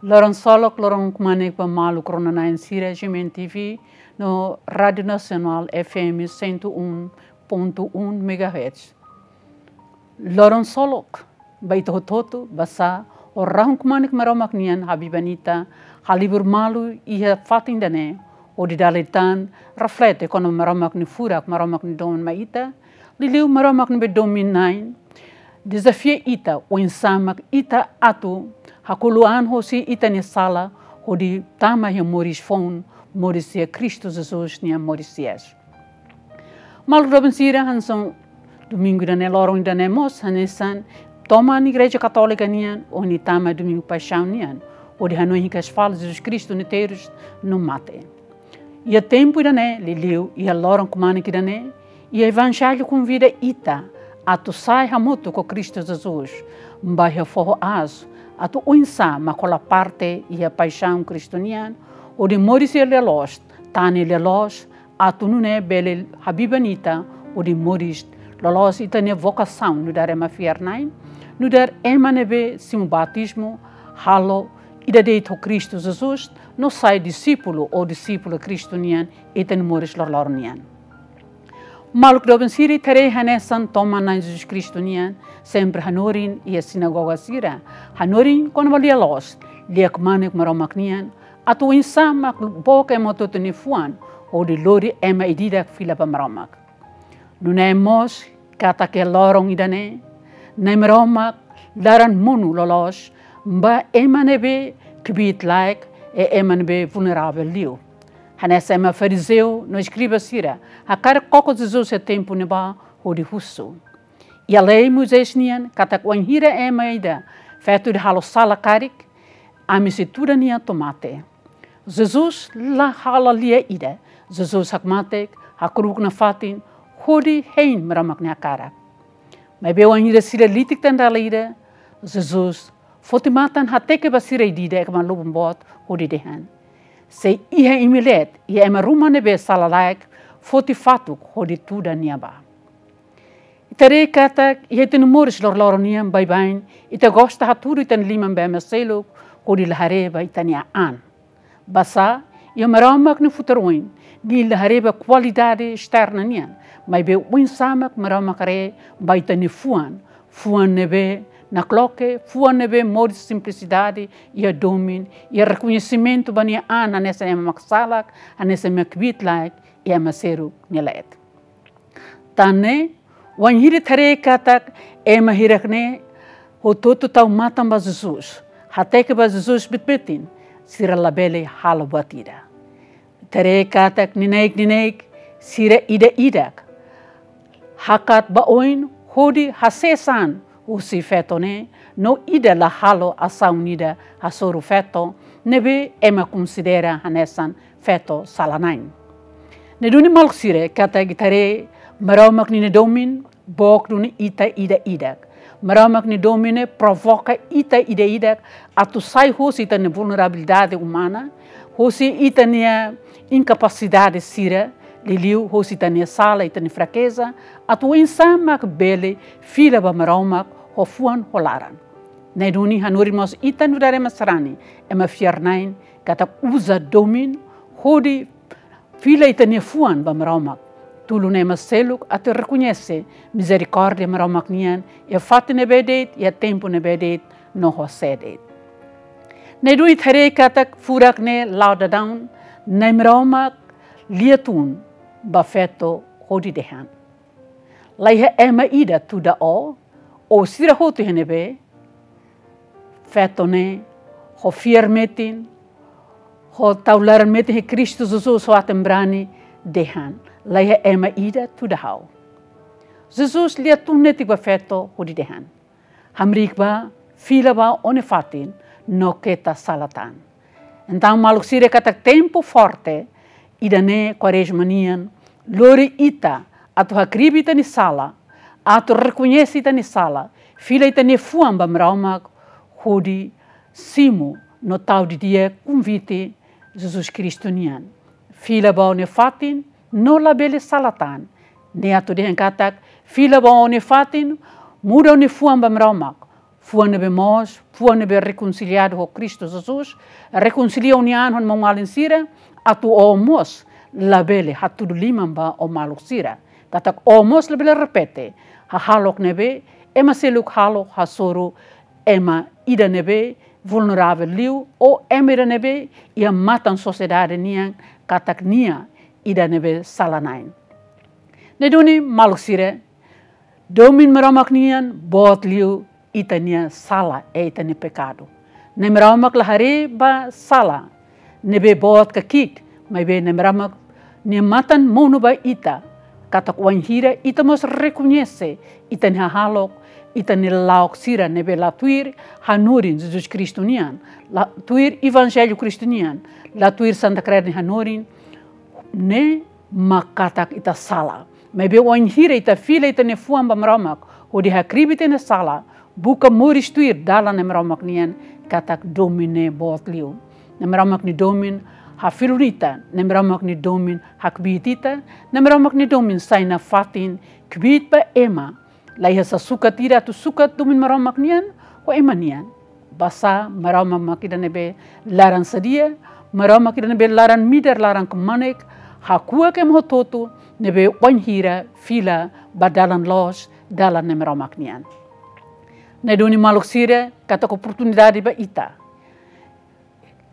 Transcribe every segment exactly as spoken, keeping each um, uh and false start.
Loron solok, loron kmanek ba maluk rona-na'in sira, G M N T V no Rádiu Nasionál F M cento e um ponto um megahertz. Loron solok ba ita hotu-hotu, basá ó rahun kmanek Maromak nian habiban ita, halibur malu iha fatin ida-ne'e, hodi dala ida tan reflete kona-ba Maromak nia furak, Maromak nia domin mai ita, liuliu Maromak ne'ebé domin-na'in, dezafia ita, oinsá mak ita atu hako'alia an hosi ita-nia sala, hodi tama iha moris foun, moris iha Kristu Jesus nia moris hi'as. Maluk doben sira, hanesan domingu ida-ne'e, loron ida-ne'e mós hanesan toman Igreja Katólika nian, ohin tama Domingu Paixaun nian, hodi hanoin hikas fali Jesus Kristu nia terus no mate. Iha tempu ida-ne'e, liuliu iha loron kmanek ida-ne'e, iha Evanjellu konvida ita atu sai hamutuk ho Kristu Jesus, bá iha foho aas, atu oinsá mak hola parte iha paixaun Kristu nian, hodi moris iha lia-loos, tan iha lia-loos, atu nune'e bele habiban ita hodi moris loloos ita-nia vokasaun nu'udar ema fiar-na'in, nu'udar ema ne'ebé simu batizmu, halo ida de'it ho Kristu Jesus, no sai disípulu ou disípula Kristu nian iha moris loroloron nian. Maluk doben sira, ita haree hanesan toman Na'i Jesus Kristu nian sempre hanorin iha sinagoga sira, hanorin kona-ba lia-loos, lia kmanek Maromak nian, atu oinsá mak book ema hotu-hotu nia fuan, hodi lori ema ida-idak fila ba Maromak. Nune'e mós katak iha loron ida-ne'e, Na'i Maromak laran monu loloos ba ema ne'ebé kbiit-laek, i ema ne'ebé vulneravel liu. Hanesan ema farizeu no eskriba sira hakarak koko Jesus iha tempu ne'ebá hodi husu. Iha lei Moisés nian katak wainhira ema ida feto ida halo sala karik, ami sei tuda nia to'o mate. Jesus la halo lia ida. Jesus hakmatek, hakru'uk nafatin, hodi hein Maromak nia hakarak. Maibé wainhira sira litik tan dala ida, Jesus foti matan hateke ba sira ida-idak ema lubun boot, hodi dehan: Se iha imi leet, iha ema ruma ne'ebé sala-laek, foti fatuk hodi tuda nia bá. Ita haree katak iha ita-nia moris loroloron nian baibain, ita gosta hatudu ita-nia liman ba ema seluk, hodi la haree ba ita-nia an. Basá, iha Maromak nia futar oin, nia la haree ba kualidade esterna nian, maibé oinsá mak Maromak haree ba ita-nia fuan, fuan ne'ebé nakloke, fuan ne'ebé moris simplisidade, iha domin, iha rekoñesimentu ba nia an hanesan ema maksalak, hanesan ema kbiit-laek, iha ema seluk nia leet. Tan ne'e, wainhira ita haree katak ema hirak-ne'e hotu-hotu tau matan ba Jesus, hateke ba Jesus bitbitin, sira labele halo buat ida. Ita haree katak neineik-neineik sira ida-idak hakat ba oin hodi hasees an husi feto ne'e, no ida la halo asaun ida hasoru feto ne'ebé ema konsidera hanesan feto sala-na'in. Ne'e duni maluk sira, katak ita haree Maromak nia domin book duni ita ida-idak. Maromak nia domin ne'e provoka ita ida-idak atu sai hosi ita-nia vulnerabilidade umana, hosi ita-nia inkapasidade sira, liuliu hosi ita-nia sala, ita-nia frakeza, atu oinsá mak bele fila ba Maromak ho fuan ho laran. Ne'e duni hanorin mós ita nu'udar ema sarani, ema fiar-na'in, katak uza domin hodi fila ita-nia fuan ba Maromak. Tulun ema seluk atu rekoñese mizerikórdia Maromak nian iha fatin ne'ebé de'it, iha tempu ne'ebé de'it, no ho sé de'it. Ne'e duni ita haree katak furak ne'e la'o daudaun, Na'i Maromak lia tun ba feto hodi dehan: Laiha ema ida tuda ó, ó sira hotu iha ne'ebé? Feto ne'e ho fiar metin, ho tau laran metin iha Kristu Jesus, ho aten-brani dehan: Laiha ema ida tuda ha'u. Jesus lia tun netik ba feto hodi dehan: Hamriik bá, fila bá ó-nia fatin, no keta sala tan. Entaun maluk sira, katak tempu forte ida-ne'e Kuarezma nian lori ita atu hakribi ita-nia sala, atu rekoñese ita-nia sala, fila ita-nia fuan ba Maromak hodi simu no tau didi'ak konvite Jesus Kristu nian. Fila bá ó-nia fatin, no labele sala tan. Ne'e atu dehan katak, fila bá ó-nia fatin, muda ó-nia fuan ba Maromak, fuan ne'ebé moos, fuan ne'ebé rekonsiliadu ho Kristu Jesus, rekonsilia ó-nia an ho maun-alin sira, atu ó mós labele hatudu liman ba ó maluk sira. Katak ó mós labele repete hahalok ne'ebé ema seluk halo hasoru ema ida ne'ebé vulneravel liu, ou ema ida ne'ebé iha matan sosiedade nian katak nia ida ne'ebé sala-na'in. Ne'e duni maluk sira, domin Maromak nian boot liu ita-nia sala, eh, ita-nia pekadu. Na'i Maromak la haree ba sala ne'ebé boot ka ki'ik, maibé Na'i Maromak nia matan monu ba ita, katak wainhira ita mós rekoñese ita-nia hahalok, ita-nia lala'ok sira ne'ebé la tuir hanorin Jesus Kristu nian, la tuir Evanjellu Kristu nian, la tuir Santa Kreda nia hanorin, ne'e mak katak ita sala. Maibé wainhira ita fila ita-nia fuan ba Maromak, hodi hakribi ita-nia sala, buka moris tuir dalan Na'i Maromak nian, katak domin ne'e boot liu. Na'i Maromak nia domin hafilun ita, Na'i Maromak nia domin hakbiit ita, Na'i Maromak nia domin sai nafatin kbiit ba ema. La iha sasukat ida atu sukat domin Maromak nian ho ema nian. Basá Maromak mak ida ne'ebé laran sadia, Maromak ida ne'ebé laran midar, laran kmanek, hakuak ema hotu-hotu ne'ebé wainhira fila ba dalan loos, dalan Na'i Maromak nian. Ne'e duni maluk sira, katak oportunidade ba ita.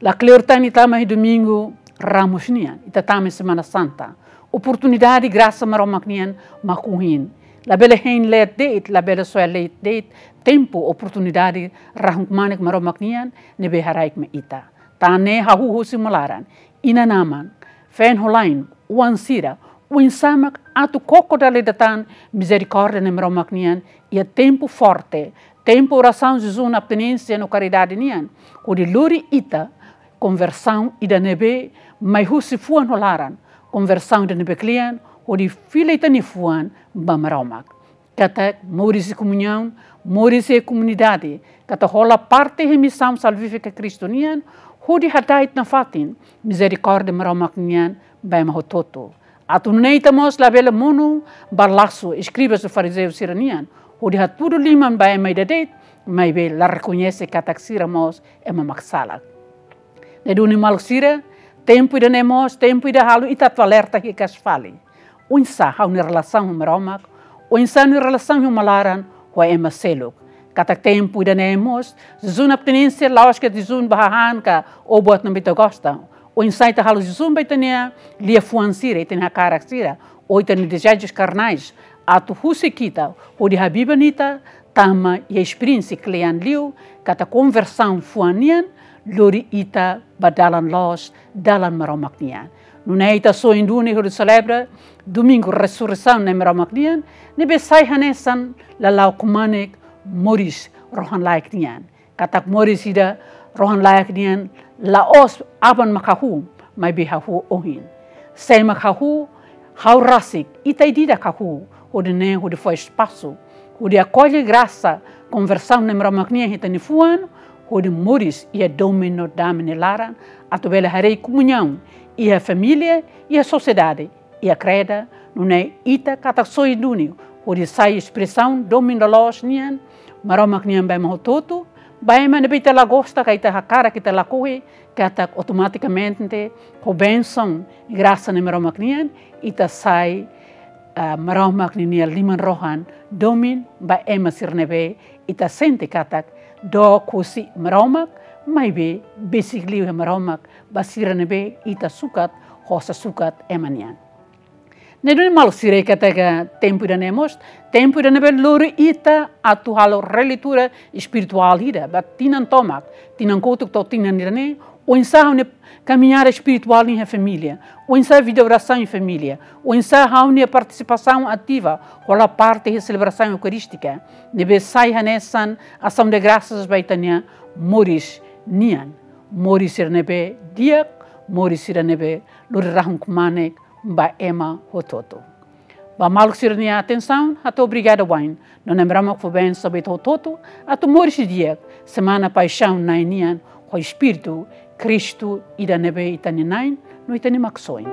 La kleur tan ita tama iha Domingu Ramus nian, ita tama iha Semana Santa. Oportunidade grasa Maromak nian mak ohin. Labele hein leet de'it, labele soe leet de'it tempu, oportunidade rahun-kmanek Maromak nian ne'ebé haraik mai ita. Tan ne'e hahú husi uma laran, inan-aman, feen-lolon, oan sira, oinsá mak atu koko dala ida tan mizerikórdia Na'i Maromak nian iha tempu forte, tempu orasaun, jejún, abstinénsia no karidade nian, hodi lori ita konversaun ida ne'ebé mai husi fuan ho laran, konversaun ida ne'ebé kle'an, hodi fila ita-nia fuan ba Maromak. Katak moris iha komuñaun, moris iha komunidade, katak hola parte iha misaun salvífika Kristu nian, hodi hada'et nafatin mizerikórdia Maromak nian ba ema hotu-hotu. Atu nune'e ita mós labele monu ba lasu eskriba no farizeu sira-nian, hodi hatudu liman ba ema ida de'it, maibé la rekoñese katak sira mós ema mak sala. Ne'e duni maluk sira, tempu ida-ne'e mós tempu ida halo ita atu alerta hikas fali. Oinsá ha'u-nia relasaun ho Maromak, oinsá ha'u-nia relasaun ho uma laran, ho ema seluk. Katak tempu ida-ne'e mós, jejún abstinénsia la'ós ke jejún ba hahán ka ó buat ne'ebé ita gosta. Oinsá ita halo jejún ba ita-nia liafuan sira, ita-nia hakarak sira, ou ita-nia dezejus karnais, atu husik ita hodi habiban ita tama iha esperiénsia kle'an liu, katak konversaun fuan nian lori ita ba dalan loos, dalan Maromak nian. Nune'e ita soin duni hodi selebra Domingu Resureisaun Na'i Maromak nian, ne'ebé sai hanesan lala'ok kmanek moris rohan-laek nian. Katak moris ida rohan-laek nian la'ós aban mak hahú, maibé hahú ohin. Sé mak hahú? Ha'u rasik, ita ida-idak hahú, hodi nune'e hodi fó espasu, hodi akolle grasa konversaun Na'i Maromak nian iha ita-nia fuan, hodi moris iha domin no dame nia laran, atu bele haree komuñaun iha família, iha sosiedade, iha kreda, nune'e ita katak soin duni hodi sai espresaun domin loloos nian Maromak nian ba ema hotu-hotu, ba ema ne'ebé ita la gosta ka ita hakarak ita lakohi, katak automatikamente ho bensaun, grasa Na'i Maromak nian, ita sai, ah, Maromak ninia liman-rohan domin ba ema sira ne'ebé ita sente katak dook husi Maromak, maibé besik liu iha Maromak ba sira ne'ebé ita sukat, ho sasukat ema nian. Ne'e duni maluk sira, katak tempu ida-ne'e mós tempu ida ne'ebé lori ita atu halo releitura espirituál ida ba tinan tomak, tinan kotuk to'o tinan ida-ne'e, oinsá ha'u-nia kamiñada espirituál iha família, oinsá vida orasaun iha família, oinsá ha'u-nia partisipasaun ativa, hola parte iha selebrasaun eukarístika, ne'ebé sai hanesan asaun de grasas ba ita-nia moris nian, moris sira ne'ebé di'ak, moris sira ne'ebé lori rahun-kmanek ba ema hotu-hotu. Ba maluk sira-nia atensaun, hato'o obrigada wa'in. No Na'i Maromak fó bensaun ba ita hotu-hotu, atu moris di'ak Semana Paixaun Na'i nian, ho espíritu Kristu ida ne'ebé ita-nia Na'i, no ita-nia Maksoin.